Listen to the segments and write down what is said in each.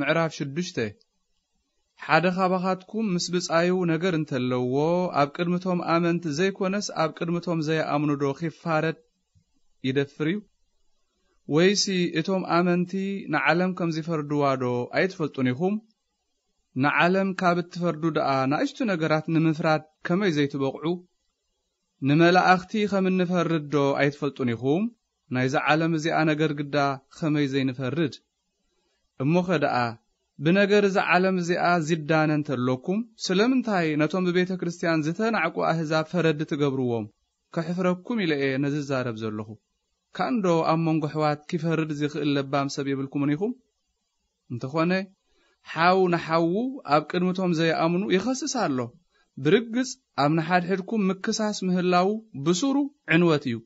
ምዕራፍ ሽዱሽተ። ሓደ ካባኻትኩም ምስ ብጻዩ ነገር እንተለዎ፣ ኣብ ቅድሚቶም ኣመንቲ ዘይኮነስ ኣብ ቅድሚቶም ዘይኣምኑ ዶ ኺፋረድ ይደፍር እዩ? ወይሲ እቶም ኣመንቲ ንዓለም ከም ዚፈርድዋ ዶ ኣይትፈልጡን ኢኹም? ንዓለም ካብ እትፈርዱ ደኣ ንኣሽቱ ነገራት ንምፍራድ ከመይ ዘይትበቕዑ? ንመላእኽቲ ከም እንፈርድ ዶ ኣይትፈልጡን ኢኹም? ናይዛ ዓለም እዚኣ ነገር ግዳ ኸመይ ዘይንፈርድ? እሞኸ ደኣ ብነገር እዛ ዓለም እዚኣ ዚዳነ እንተሎኩም፣ ስለምንታይ ነቶም ብቤተ ክርስትያን ዝተናዕቁ ኣህዛብ ፈረድቲ ትገብርዎም? ከሕፍረኩም ኢለ እየ ነዚ ዝዛረብ ዘለኹ። ካንዶ ኣብ መንጎ ኣሕዋት ኪፈርድ ዚኽእል ለባም ሰብ የብልኩምን ኢኹም? እንተኾነ፣ ሓው ንሓዉ ኣብ ቅድሚቶም ዘይኣምኑ ይኸስስ ኣሎ። ብርግጽ ኣብ ንሓድሕድኩም ምክሳስ ምህላዉ ብሱሩ ዕንወት እዩ።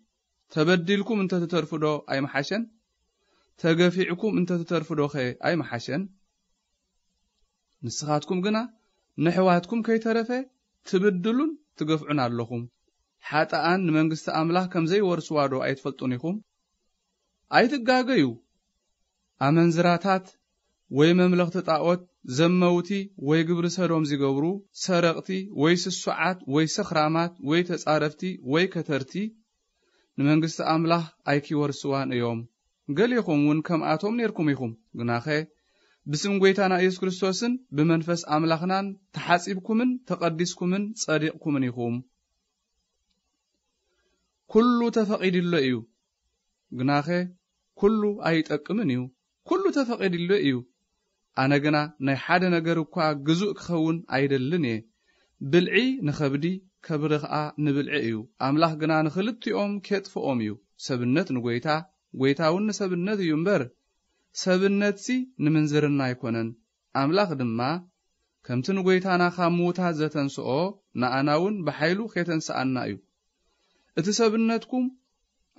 ተበዲልኩም እንተ ትተርፉ ዶ ኣይምሓሸን? ተገፊዕኩም እንተ ትተርፉ ዶኸ ኣይምሓሸን? ንስኻትኩም ግና ነሕዋትኩም ከይተረፈ ትብድሉን ትገፍዑን ኣለኹም። ሓጥኣን ንመንግስቲ ኣምላኽ ከም ዘይወርስዋ ዶ ኣይትፈልጡን ኢኹም? ኣይትጋገዩ። ኣመንዝራታት ወይ መምለኽቲ ጣዖት፣ ዘመውቲ ወይ ግብሪ ሰዶም ዚገብሩ፣ ሰረቕቲ ወይ ስሱዓት ወይ ሰኽራማት ወይ ተጻረፍቲ ወይ ከተርቲ፣ ንመንግስቲ ኣምላኽ ኣይኪወርስዋን እዮም። ገሌኹም እውን ከምኣቶም ኔርኩም ኢኹም። ግናኸ ብስም ጐይታና ኢየሱስ ክርስቶስን ብመንፈስ ኣምላኽናን ተሓጺብኩምን ተቐዲስኩምን ጸዲቕኩምን ኢኹም። ኩሉ ተፈቒድሎ እዩ፣ ግናኸ ኩሉ ኣይጠቅምን እዩ። ኩሉ ተፈቒድሎ እዩ። ኣነ ግና ናይ ሓደ ነገር እኳ ግዙእ ክኸውን ኣይደልን እየ። ብልዒ ንኸብዲ፣ ከብዲ ኸኣ ንብልዒ እዩ። ኣምላኽ ግና ንኽልቲኦም ኬጥፍኦም እዩ። ሰብነት ንጐይታ፣ ጐይታ እውን ንሰብነት እዩ እምበር፣ ሰብነትሲ ንምንዝርና ኣይኮነን። ኣምላኽ ድማ ከምቲ ንጐይታና ካብ ምዉታት ዘተንስኦ፣ ንኣና እውን ብሓይሉ ኼተንስኣና እዩ። እቲ ሰብነትኩም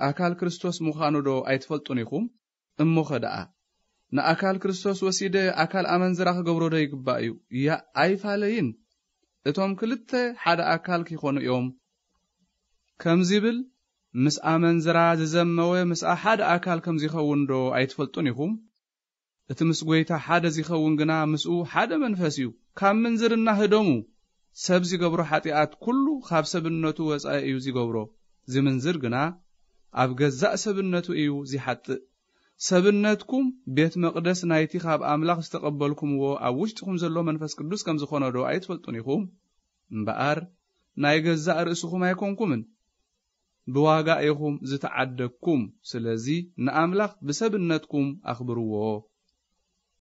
ኣካል ክርስቶስ ምዃኑ ዶ ኣይትፈልጡን ኢኹም? እሞኸ ደኣ ንኣካል ክርስቶስ ወሲደ ኣካል ኣመንዝራ ክገብሮ ዶ ይግባእ እዩ? ያእ ኣይፋለይን። እቶም ክልተ ሓደ ኣካል ኪኾኑ እዮም። ከም ዚብል፣ ምስ ኣመንዝራ ዝዘመወ ምስኣ ሓደ ኣካል ከም ዚኸውን ዶ ኣይትፈልጡን ኢኹም? እቲ ምስ ጐይታ ሓደ ዚኸውን ግና ምስኡ ሓደ መንፈስ እዩ። ካብ ምንዝርና ህደሙ። ሰብ ዚገብሮ ኃጢኣት ኩሉ ካብ ሰብነቱ ወጻኢ እዩ ዚገብሮ። ዚምንዝር ግና ኣብ ገዛእ ሰብነቱ እዩ ዚሓጥእ። ሰብነትኩም ቤት መቕደስ ናይቲ ካብ ኣምላኽ ዝተቐበልኩምዎ ኣብ ውሽጥኹም ዘሎ መንፈስ ቅዱስ ከም ዝኾነ ዶ ኣይትፈልጡን ኢኹም? እምበኣር ናይ ገዛእ ርእስኹም ኣይኮንኩምን። ብዋጋ ኢኹም ዝተዓደግኩም። ስለዚ ንኣምላኽ ብሰብነትኩም ኣኽብርዎ።